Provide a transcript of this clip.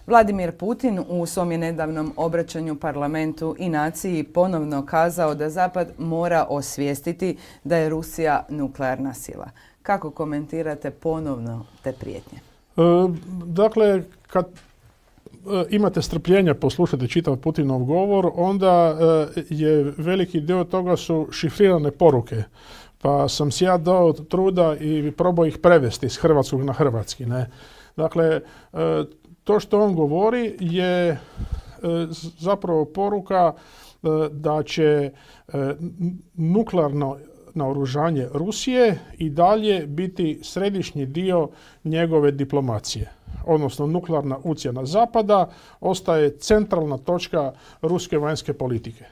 Vladimir Putin u svom je nedavnom obraćanju parlamentu i naciji ponovno kazao da Zapad mora osvijestiti da je Rusija nuklearna sila. Kako komentirate ponovno te prijetnje? Dakle, kad imate strpljenja poslušati čitav Putinov govor, onda je veliki dio toga su šifrirane poruke. Pa sam si ja dao truda i probao ih prevesti iz hrvatskog na hrvatski. Ne? Dakle, to što on govori je zapravo poruka da će nuklearno naoružanje Rusije i dalje biti središnji dio njegove diplomacije. Odnosno nuklearna ucjena Zapada ostaje centralna točka ruske vanjske politike.